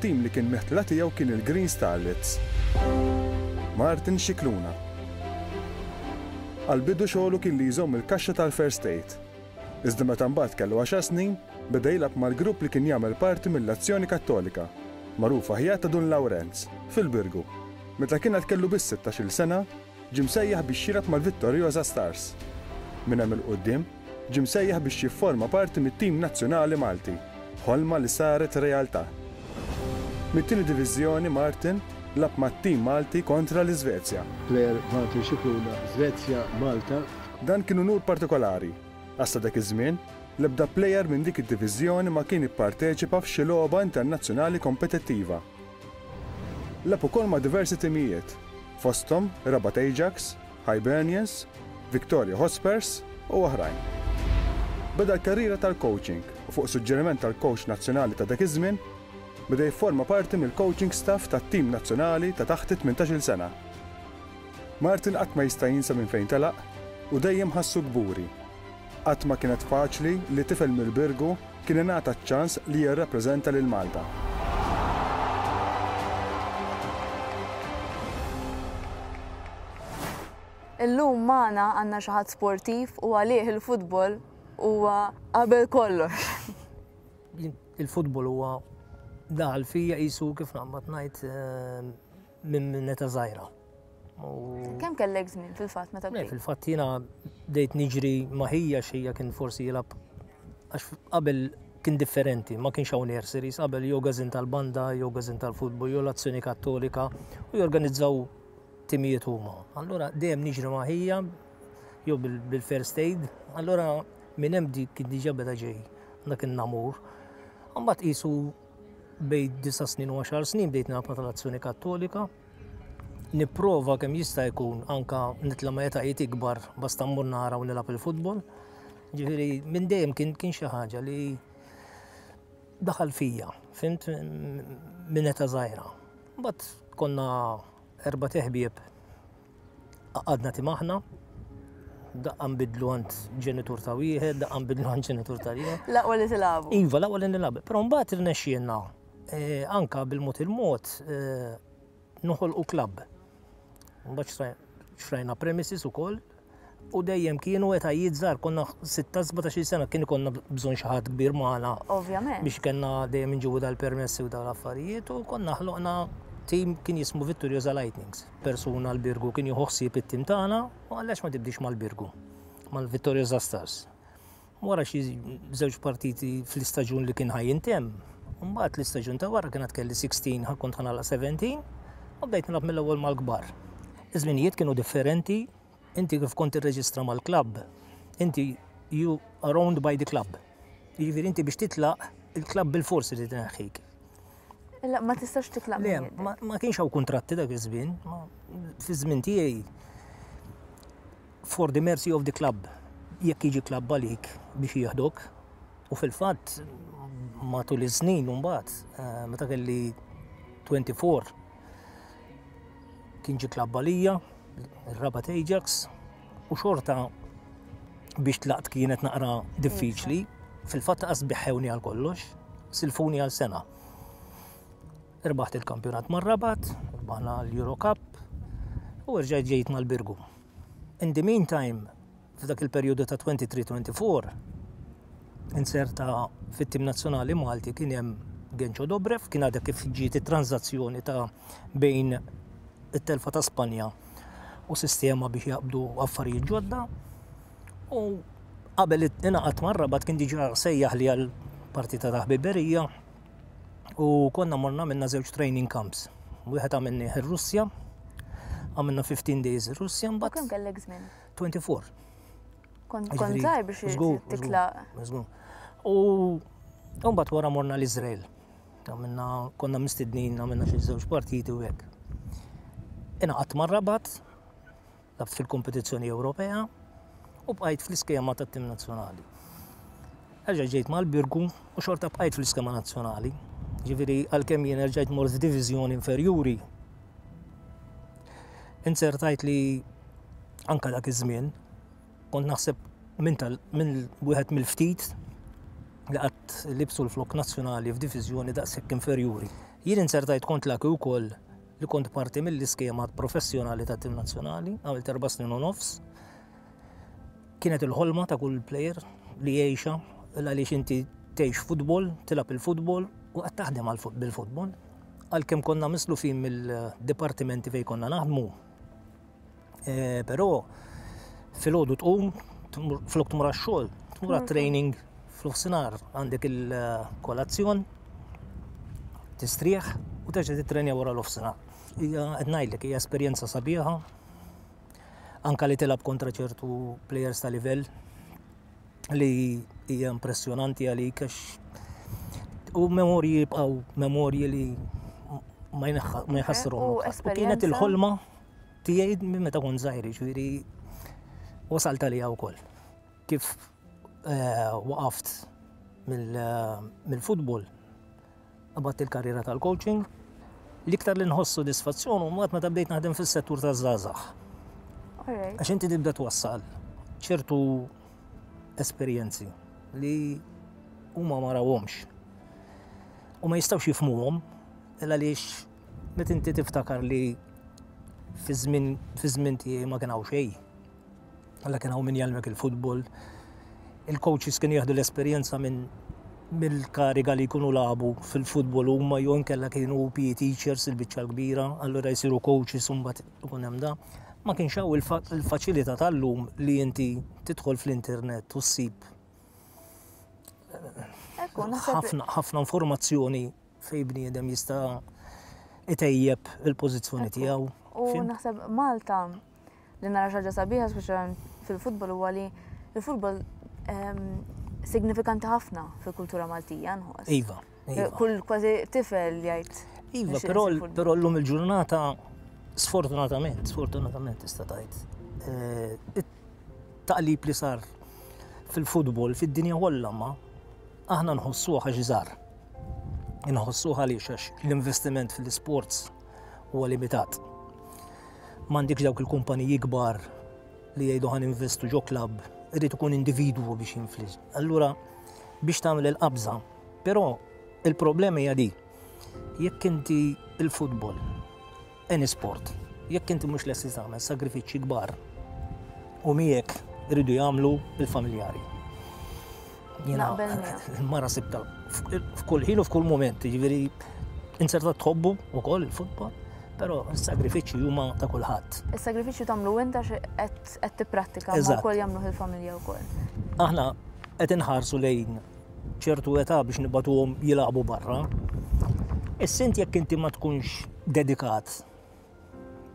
It-tim li kien meħtla tiegħu kien il-Green Starlets. Martin Scicluna. Għall-bidu xogħlu kien li jżomm il-kaxxa tal-First Aid. Iżda meta mbagħad kellu għaxar snin, beda jilgħab mal-grupp li kien jagħmel parti mill-Azzjoni Kattolika, magħruf aħjar ta' Dun Lawrenz, fil-Birgu. Meta kien għad kellu biss sittax-il sena, ġie msejjaħ biex jilgħab mal-Vittoriosa Stars. Minn hemm 'il quddiem, ġie msejjaħ biex jifforma parti mit-tim nazzjonali Malti, ħolma li saret realtà. Mit-tieni diviżjoni Martin lagħab mat-tim Malti kontra l-Iżvezja. Player Martin Scicluna, Svezja, Malta. Dan kien unur partikolari, għax sa dak iż-żmien, l-ebda plejer minn dik id-diviżjoni ma kien ipparteċipa f'xi logħba internazzjonali kompetittiva. Lagħab ukoll ma' diversi timijiet, fosthom Rabat Ajax, Hibernians, Victoria Hotspurs u oħrajn. Beda l-karriera tal-coaching u fuq suġġeriment tal-coach nazzjonali ta' dak iż-żmien, beda jifforma parti mill-coaching staff tat-tim nazzjonali ta' taħt it-tmintax-il sena. Martin qatt ma jista' jinsa minn fejn telaq u dejjem ħassu kburi. Qatt ma kienet faċli li tifel mill-Birgu kien ingħata ċ-ċans li jirrappreżenta lil Malta. Illum magħna għandna xi ħadd sportiv u għalih il-futbol huwa qabel kollox. Il-futbol huwa daħal fija qisu kif naqbad ngħid eh, minn meta żgħira. Kemm kellek żmien fil-fatt meta bdejt? Fil-fatt jiena bdejt niġri ma' ħija xejja kien forsi jilgħab għax qabel kien differenti, ma kienx hawn nurseries, qabel jew gazin tal-banda, jew gazin tal-futbol, jew l-azzjoni kattolika u jorganizzaw timijiet huma. Allura dejjem niġri ma' ħija jew bil-first aid, allura minn hemm kien diġà beda ġej dak in-namur. Mbagħad qisu bejn disa' snin u għaxar snin bdejt nilgħab ma' tal-Azzjoni Kattolika. Nipprova kemm jista' jkun anka nitla' ma' etajiet ikbar basta mmur nara u nilgħab il-futbol. Ġifieri minn dejjem kien kien xi ħaġa li daħal fija, fimt minn età żgħira. Mbagħad konna erba' teħbieb Għadna tim aħna, daqqa nbidlu għand ġenitur ta' wieħed, daqqa nbidlu għand ġenitur ta' ieħor. L-aqwa li tilagħbu. Iva, l-aqwa li nilagħbu. Però mbagħad irnexxielna eh, anka bil-mod il-mod eh, noħolqu klabb. Mbagħad xrajna premises ukoll u dejjem kienu etajiet żgħar konna 16-17 sena kien ikollna bżonn xi ħadd kbir magħna. Ovvjament. Biex kellna dejjem inġibu dal-permessi u dal-affarijiet u konna ħloqna tim kien jismu Vittoriosa Lightnings. Persuna l-Birgu kien jieħu ħsieb it-tim tagħna u għaliex ma tibdix mal-Birgu, mal-Vittoriosa Stars. Wara xi żewġ partiti fl-istaġun li kien ħa jintemm, mbagħad l-istaġun ta' wara kien għad kelli 16 ħa kont ħa nagħlaq 17 u bdejt nilgħab mill-ewwel mal-kbar. Iż-żminijiet kienu differenti, inti kif kont tirreġistra mal-klabb, inti you are owned by the club. Jiġifieri inti biex titlaq, il-klabb bilfors irid ineħħik. La, ma tistax titlaq. Le, ma kienx hawn kuntratti dak iż-żmien. Fi żmien tiegħi for the mercy of the club, jekk jiġi klabb għalik biex jieħdok. U fil-fatt matul iż-żnien mbagħad eh, meta kelli 24 kien ġi klabb għalija, ir-Rabat Ajax, u xorta biex tlaqt kienet naqra diffiċli, fil-fatt qas biħħewni għal kollox, silfuni għal sena. Irbaħt il-kampjonat mar-Rabat, irbaħna l-Euro Cup u rġajt ġejt mal-Birgu. In the meantime, f'dak il-perjodu ta' 23-24, inserta fit-tim nazzjonali Malti kien hemm Genċo Dobrev, kien għadha kif ġiet it-tranżazzjoni ta' bejn it-telfa ta' Spanja u sistema biex jaqbdu affarijiet ġodda. U qabel ingħaqadt mar-Rabat kien diġà sejjaħ li għal partita ta' ħbiberija u konna morna minna żewġ training camps. Wieħed għamilnieh ir-Russja, għamilna 15 days ir-Russja mbagħad. Kemm kellek żmien? 24. Kont żgħir biex titlaq. Żgur. U mbagħad wara morna l-Iżrael. Għamilna konna mistednin għamilna xi żewġ partiti u hekk. Ingħaqadt mar-Rabat, Labt fil-kompetizzjoni Ewropea u bqajt fl-iskema tat-tim nazzjonali. Erġa' ġejt mal-Birgu u xorta bqajt fl-iskema nazzjonali. Ġifieri għalkemm jien erġajt mort f'diviżjoni inferjuri. Inzertajt li anka dak iż-żmien kont naħseb minn tal minn wieħed mill-ftit li qatt libsu l-flok nazzjonali f'diviżjoni daqshekk inferjuri. Jien inzertajt kont lucky wkoll li kont parti mill-iskema professjonali tat-tim nazzjonali, għamilt 4 snin u nofs. Kienet il-ħolma ta' kull player li jgħixha, għaliex inti tgħix futbol, tilgħab il-futbol u qed taħdem bil-futbol. Għalkemm konna mislufin mill-dipartimenti fejn konna naħdmu. Però filgħodu tqum, flok tmur għax-xogħol, tmur għat-training f'nofsinhar, għandek il-kolazzjon, tistrieħ u terġa' titrenja wara l-nofsinhar. Hija qed ngħidlek hija esperjenza sabiħa, anka li tilgħab kontra ċertu players ta' livell li hija impressjonanti għalik għax u memorji jibqgħu memorji li ma jħassruhom. U U kienet il-ħolma tiegħi minn meta kont żgħir, ġifieri wasalt għalija wkoll. Kif waqaft mill-futbol, qabadt il-karriera tal-coaching, l-iktar li nħoss sodisfazzjon u meta bdejt naħdem fis-settur taż-żgħażagħ. Għax inti tibda twassal ċertu esperjenzi li huma ma rawhomx. U ma jistgħux jifhmuhom illa għaliex meta inti tiftakar li fi żmien tiegħi ma kien hawn xejn. Alla kien hawn min jgħallmek il-futbol. Il-coaches kienu jieħdu l-esperjenza minn mill-kariga li jkunu lagħbu fil-futbol huma jew inkella kienu PE teachers il-biċċa l-kbira, allura jsiru coaches u mbagħad ikun hemm da. Ma kienx hawn il-faċilità tal-lum li inti tidħol fl-internet u ssib Ekku, naħseb ħafna ħafna informazzjoni fej bniedem jista' itejjeb il-pożizzjoni tiegħu. U Fhimt? naħseb Malta li nara xi ħaġa sabiħa speċjalment fil-futbol huwa li il-futbol signifikanti ħafna fil-kultura Maltija nħoss. Iva. Kull kważi tifel jgħid. Iva, nixtieq però insir futbol. però llum il-ġurnata sfortunatament, sfortunatament tista' tgħid. It-taqlib li sar fil-futbol fid-dinja kollha ma aħna nħossuha għax żgħar. Inħossuha għaliex għax l-investiment fil-sports huwa limitat. M'għandekx dawk il-kumpaniji kbar li jgħidu ħa ninvestu ġo klabb, irid ikun individwu biex jinfliġ. Allura biex tagħmel il-qabża, però il-problema hija di. Jekk inti il-futbol, any sport, jekk inti mhux lesti tagħmel sagrifiċċji kbar u miegħek iridu jagħmlu il-familjari. Jiena Naqbel miegħek. il-mara sibta f'kull ħin u f'kull moment, jiġifieri inserta tħobbu wkoll il-futbol, però s-sagrifiċċji huma ta' kulħadd. Is-sagrifiċċju tagħmlu inta qed qed tipprattika ma wkoll jagħmluh il-familja wkoll. Aħna qed inħarsu lejn ċertu età biex nibagħtuhom jilagħbu barra. Issa int jekk inti ma tkunx dedikat,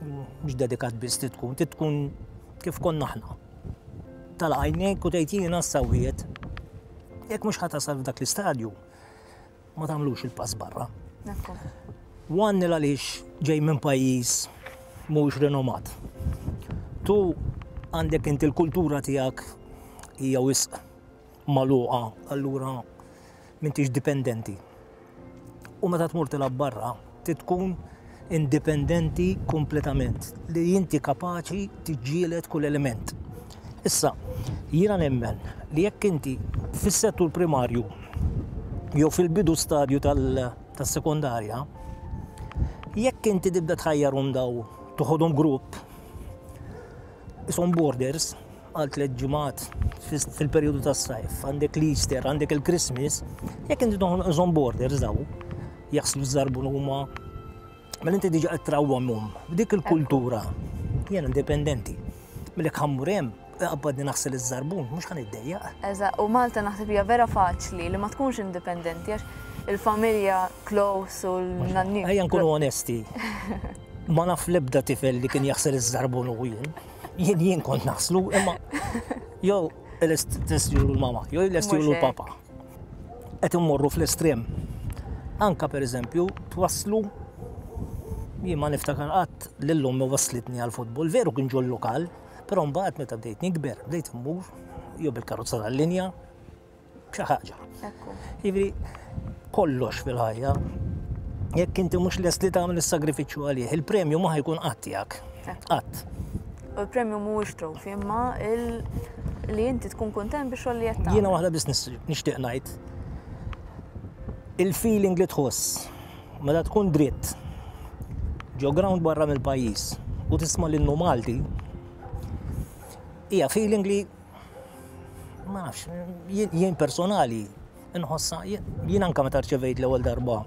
mhux dedikat biss trid tkun, trid tkun kif konna aħna. Tal-għajnejk u tgħid jiena s-sawiet. Jekk mhux ħa tasal f'dak l-istadju, ma tagħmlux il-pass barra. Ekku. One għaliex ġej minn pajjiż mhux renomat. Tu għandek inti l-kultura tiegħek hija wisq magħluqa, allura m'intix dipendenti. U meta tmur tilgħab barra, trid tkun indipendenti kompletament, li inti kapaċi tiġġieled kull element. Issa, jiena nemmen li jekk inti fis-settur primarju jew fil-bidu stadju tas-sekondarja, jekk inti tibda tħajjarhom daw toħodhom grupp, isom borders għal 3 ġimgħat fil-perjodu tas-sajf, għandek l-Easter, għandek il-Christmas, jekk inti toħodhom borders daw, jaħslu żarbun huma, mela inti diġa qed trawwamhom b'dik il-kultura. Jien indipendenti. Milli ħa mmur hemm, qabbadni naħsel iż-żarbun, mhux ħa niddejjaq. Eżatt, u Malta naħseb hija vera faċli li ma tkunx indipendenti għax il-familja close u l-nanni. Ejja nkunu onesti. Ma naf l-ebda tifel li kien jaħsel iż-żarbun u jien. Jien kont naħslu, imma jew l-estjulu l-mama, jew l-estjulu Mhux hekk. l-papa. Qed immorru fl-estrem. Anka per eżempju, twaslu jien ma niftakar qatt lil ommi waslitni għal-futbol, veru kien ġol lokal, però mbagħad meta bdejt nikber, bdejt immur jew bil-karozza tal-linja, xi ħaġa. Ekku. Jiġifieri, kollox fil-ħajja, jekk inti mhux lest li tagħmel is-sagrifiċċju għalih, il-premju ma ħa jkun qatt tiegħek. Qatt. U l-premju mhuwiex trophy, imma li inti tkun kontent biex xogħol li qed Jiena tagħmel. waħda biss nixtieq ngħid. Il-feeling li tħoss meta Meta tkun dritt ġo ground barra mill-pajjiż u tisma' l-innu Malti, hija feeling li ma nafx, jien personali nħossa, jien anka meta rċevejt l-ewwel darba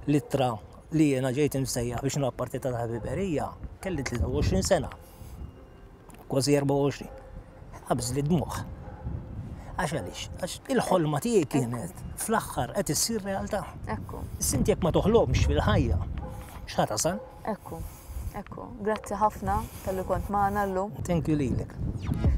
l-ittra li jiena ġejt imsejjaħ biex nilgħab partita ta' ħbiberija, kelli 23 sena. Kważi 24. Qabżli d-dmugħ. Għax għaliex? Għax il-ħolma tiegħi kienet fl-aħħar qed issir realtà. Ekku. Issa jekk ma toħlomx fil-ħajja, x'ħa tasal? Ekku. Ekku. Grazzi ħafna talli kont magħna llum. Thank you lilek.